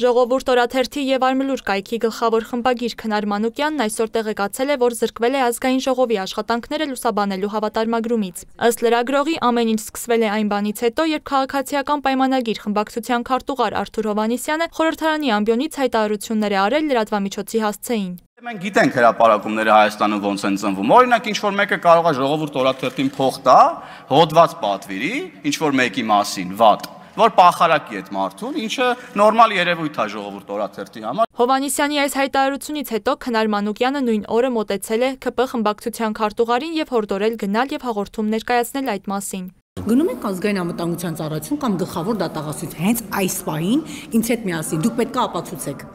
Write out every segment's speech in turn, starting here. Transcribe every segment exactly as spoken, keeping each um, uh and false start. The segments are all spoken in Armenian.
Ժողովուրդ օրաթերթի եւ Արմլուր կայքի գլխավոր խմբագիր Քնար Մանուկյանն այսօր տեղեկացել է, որ զրկվել է ազգային ժողովի աշխատանքները լուսաբանելու հավատարմագրումից։ Ըստ լրագրողի, ամեն ինչ սկսվել է այն բանից հետո, երբ քաղաքացիական պայմանագիր խմբակցության քարտուղար Արթուր Հովհաննիսյանը խորհրդարանի ամբիոնից հայտարարություններ է արել լրատվամիջոցի հասցեին։ Մենք գիտենք հրապարակումները Հայաստանում ոնց են ծնվում։ Օրինակ, ինչ որ մեկը կարող է ժողովուրդ օրաթերթին փող տա, հոդված պատվիրի, ինչ որ մեկի մասին, վատ, որ պախարակի այդ մարդուն, ինչը նորմալ երևույթ է ժողովուրդ օրաթերթի համար։ Հովհաննիսյանի այս հայտարարությունից հետո Քնար Մանուկյանը նույն օրը մոտեցել է ՔՊ խմբակցության քարտուղարին եւ հորդորել գնալ եւ հաղորդում ներկայացնել այդ մասին։ Գնում ենք ազգային անվտանգության ծառայություն կամ գլխավոր դատախազություն, հենց այս պահին ինձ հետ միասին դուք պետք է ապացուցեք։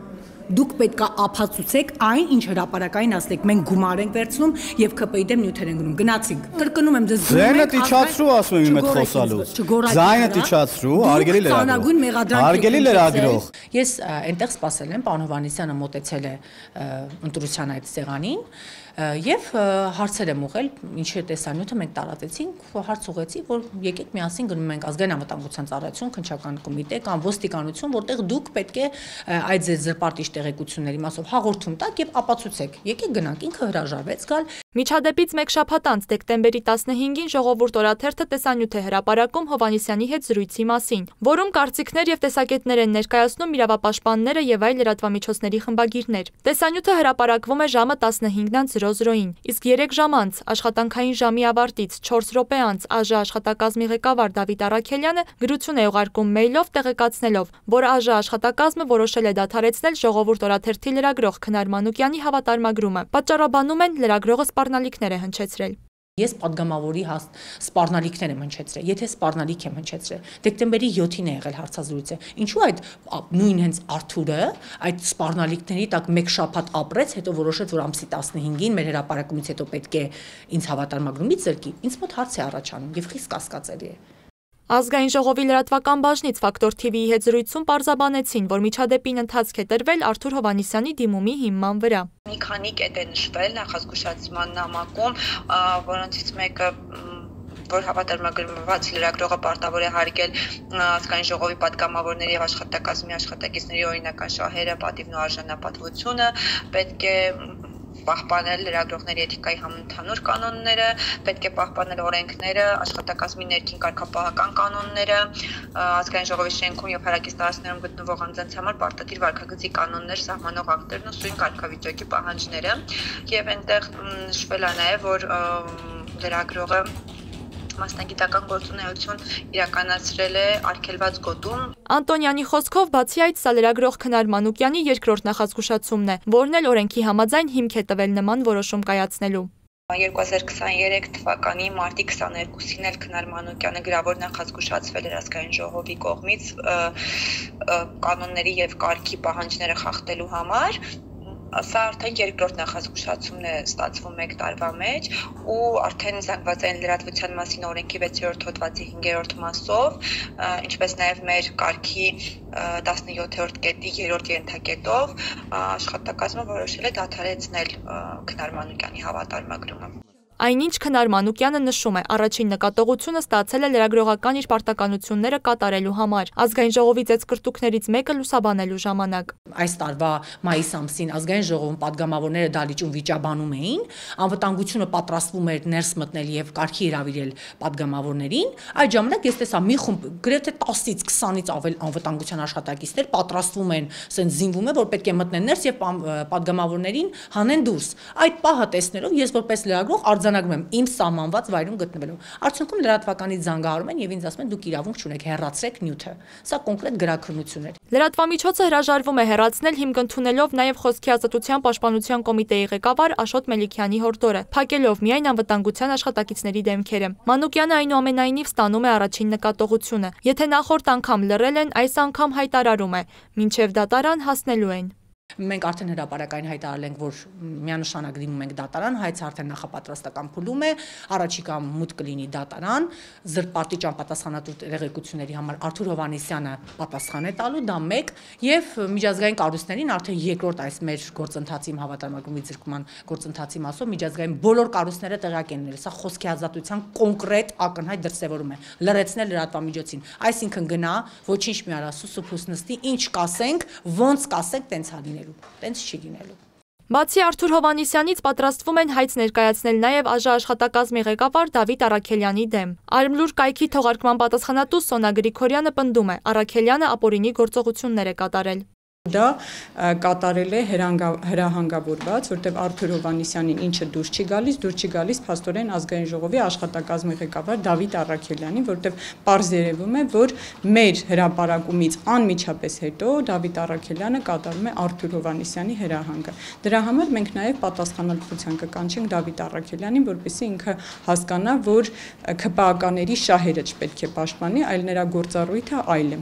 Դուք պետք է ապացուցեք այն, ինչ հրապարակային ասեք, մենք գումար ենք վերցնում եւ ՔՊ-ի դեմ նյութեր ենք գնում։ Գնացինք։ Կրկնում եմ, դες Ձայնը իջացրու, ասում եմ իմ հետ խոսալուց։ Ձայնը իջացրու, հարգելի լրագրող։ Հարգելի լրագրող։ Ես այնտեղ սպասել եմ, պարոն Հովհաննիսյանը մոտեցել է ընտրության այդ սեղանին եւ հարցեր եմ ուղղել, ինչի տեսանյութը մենք տարածեցինք, հարց ուղղեցի, որ եկեք միասին գնում ենք ազգային անվտանգության ծառայություն, քննչական կոմիտե կամ ոստիկանություն, որտեղ դուք պետք է այդ ձեր զրպարտիչ տեղեկությունների մասով հաղորդում տաք եւ ապացուցեք։ Եկեք գնանք, ինքը հրաժարվեց գալ։ Միջադեպից մեկ շաբաթ անց դեկտեմբերի տասնհինգին ժողովուրդ օրաթերթը տեսանյութ է հրապարակում Հովհաննիսյանի հետ զրույցի մասին, որում կարծիքներ եւ տեսակետներ են ներկայացնում իրավապաշտպանները եւ այլ լրատվամիջոցների խմբագիրներ։ Տեսանյութը հրապարակվում է ժամը տասնհինգ զրո զրոյին, իսկ երեք ժամ անց աշխատանքային ժամի ավարտից չորս րոպե անց ԱԺ աշխատակազմի ղեկավար Դավիթ Առաքելյանը գրություն է ուղարկում մեյլով տեղեկացնելով, որ ԱԺ աշխատակազմը որոշել է դադարեցնել ժողովուրդ օրաթերթի լրագրող Քնար Մանուկյանի հավատարմագրումը։ Պատճառաբանում են լրագրողը սպառնալիքներ է հնչեցրել։ Ես պատգամավորի սպառնալիքներ եմ հնչեցրել, եթե սպառնալիք եմ հնչեցրել, դեկտեմբերի յոթին է եղել հարցազրույցը, ինչու այդ նույն հենց Արթուրը այդ սպառնալիքների տակ մեկ շաբաթ ապրեց, հետո որոշեց, որ ամսի տասնհինգին մեր հրապարակումից հետո պետք է ինձ հավատարմագրումից զրկի, ինձ մոտ հարց է առաջանում եւ խիստ կասկածելի է։ Ազգային ժողովի լրատվական բաժնից Ֆակտոր թի վիի հետ զրույցում պարզաբանեցին, որ միջադեպին ընթացք է տրվել Արթուր Հովհաննիսյանի դիմումի հիման վրա։ Մի քանի կետ է նշվել նախազգուշացման նամակում, որոնցից մեկը որ հավատարմագրված լրագրողը պարտավոր է հարգել ազգային ժողովի պատգամավորների եւ աշխատակազմի աշխատակիցների օրինական շահերը, պատիվն ու արժանապատվությունը, պետք է պահպանել լրագրողների էթիկայի համընդհանուր կանոնները, պետք է պահպանել օրենքները, աշխատակազմի ներքին կարգապահական կանոնները, ազգային ժողովի շենքում եւ հարակից տարածքներում գտնվող անձանց համար պարտադիր վարքագծի կանոններ, սահմանող ակտերն ու սույն կարգավիճակի պահանջները, եւ այնտեղ նշվել է նաեւ, որ լրագրողը մասնագիտական գործունեություն իրականացրել է արգելված գոտում։ Անտոնյանի խոսքով բացի այդ սա լրագրող Քնար Մանուկյանի երկրորդ նախազգուշացումն է, որն էլ օրենքի համաձայն հիմք է տվել նման որոշում կայացնելու։ երկու հազար քսաներեք թվականի մարտի քսաներկուսին էլ Քնար Մանուկյանը գրավոր նախազգուշացվել էր ազգային ժողովի կողմից կանոնների եւ կարգի պահանջները խախտելու համար։ Սա արդեն երկրորդ նախազգուշացումն է ստացվում մեկ տարվա մեջ ու արդեն զանգվածային լրատվության մասին օրենքի վեցերորդ հոդվածի հինգերորդ մասով, ինչպես նաև մեր կարգի տասնյոթերորդ կետի երրորդ ենթակետով աշխատակազմը որոշել է դադարեցնել Քնար Մանուկյանի հավատարմագրումը։ Այնինչ Քնար Մանուկյանը նշում է, առաջին նկատողությունը ստացել է լրագրողական իր պարտականությունները կատարելու համար, ազգային ժողովի ծեծկրտուկներից մեկը լուսաբանելու ժամանակ։ Այս տարվա մայիս ամսին ազգային ժողովում պատգամավորները դալիճում վիճաբանում էին, անվտանգությունը պատրաստվում էր ներս մտնել եւ կարգի հրավիրել պատգամավորներին, այդ ժամանակ ես տեսա մի խումբ գրեթե տասից քսանից ավել անվտանգության աշխատակիցներ պատրաստվում են, ասեն զինվում են, որ պետք է մտնեն ներս եւ պատգամավորներին հանեն դուրս։ Այդ պահը տեսնելով ես որպես լրագրող արձանագրում եմ իմ սահմանված վայրում գտնվելով։ Արդյունքում լրատվականից զանգահարում են եւ ինձ ասում են դուք իրավունք չունեք, հեռացրեք նյութը։ Սա կոնկրետ գրաքննություն էր։ Լրատվամիջոցը հրաժարվում է հեռացնել հիմք ընդունելով նաեւ Խոսքի ազատության պաշտպանության կոմիտեի ղեկավար Աշոտ Մելիքյանի հորդորը, փակելով միայն անվտանգության աշխատակիցների դեմքերը։ Մանուկյանը այնուամենայնիվ ստանում է առաջին նկատողությունը։ Եթե նախորդ անգամ լռել են, այս անգամ հայտարարում է, մինչև դատարան հասնելու են։ Մենք արդեն հրապարակային հայտարարել ենք, որ միանշանակ դիմում ենք դատարան, հայց արդեն նախապատրաստական փուլում է, առաջիկա մուտք կլինի դատարան, զրպարտիչ անպատասխանատու տեղեկությունների համար Արթուր Հովհաննիսյանը պատասխան է տալու, դա մեկ, եւ միջազգային կառույցներին արդեն երկրորդ այս մեր գործընթացի հավատարմագրումի ձգտման գործընթացի մասով միջազգային բոլոր կառույցները տեղյակ են նել, սա խոսքի ազատության կոնկրետ ակնհայտ դրսևորում է, լրացնել լրատվամիջոցին, այսինքն գնա, ոչինչ մի արա, սուսուփուս նստի, ինչ կասենք, ոնց կասենք, տենց հա լինելու, տենց չի լինելու։ Բացի Արթուր Հովհաննիսյանից պատրաստվում են հայց ներկայացնել նաև ԱԺ աշխատակազմի ղեկավար Դավիթ Առաքելյանի դեմ։ Արմլուր կայքի թողարկման պատասխանատու Սոնա Գրիգորյանը պնդում է, Առաքելյանը ապօրինի գործողություններ է կատարել։ Դա կատարել է հրահանգավորված, որտեղ Արթուր Հովհաննիսյանին ինչը դուրս չի գալիս, դուրս չի գալիս փաստորեն ազգային ժողովի աշխատակազմի ղեկավար Դավիթ Առաքելյանին, որտեղ պարզ երևում է, որ մեր հրապարակումից անմիջապես հետո Դավիթ Առաքելյանը կատարում է Արթուր Հովհաննիսյանի հրահանգը։ Դրա համար մենք նաև պատասխանատվության կկանչենք Դավիթ Առաքելյանին, որպեսզի ինքը հասկանա, որ ՔՊԱ-ականների շահերը չպետք է պաշտպանի, այլ նրա գործառույթը այլ է։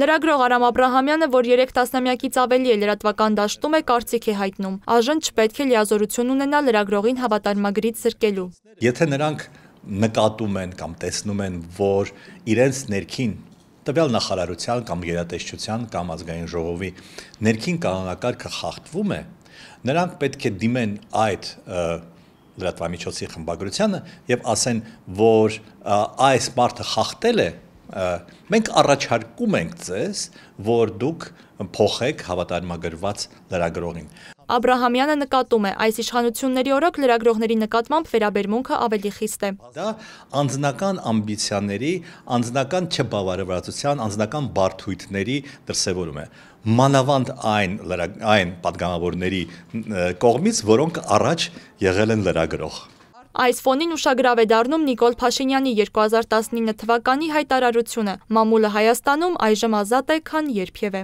Լրագրող Արամ Աբրահամյանը, որ երեք տասնամյակից ավելի է լրատվական դաշտում է, կարծիք է հայտնում. Աժն չպետք է լիազորություն ունենա լրագրողին հավատարմագրից զրկելու։ Եթե նրանք նկատում են կամ տեսնում են, որ իրենց ներքին տվյալ նախարարության կամ գերատեսչության կամ ազգային ժողովի ներքին կանոնակարգը խախտվում է, նրանք պետք է դիմեն այդ լրատվամիջոցի խմբագրությանը եւ ասեն, որ այս մարդը խախտել է, մենք առաջարկում ենք ձեզ, որ դուք փոխեք հավատարմագրված լրագրողին։ Աբրահամյանը նկատում է, այս իշխանությունների օրոք լրագրողների նկատմամբ վերաբերմունքը ավելի խիստ է։ Դա անձնական ամբիցիաների, անձնական չբավարարվածության, անձնական բարդույթների դրսևորում է։ Մանավանդ այն այն падգամավորների կողմից, որոնք առաջ եղել են լրագրող։ Այս ֆոնին ուշագրավ է դառնում Նիկոլ Փաշինյանի երկու հազար տասնինը թվականի հայտարարությունը՝ մամուլը Հայաստանում այժմ ազատ է, քան երբևէ։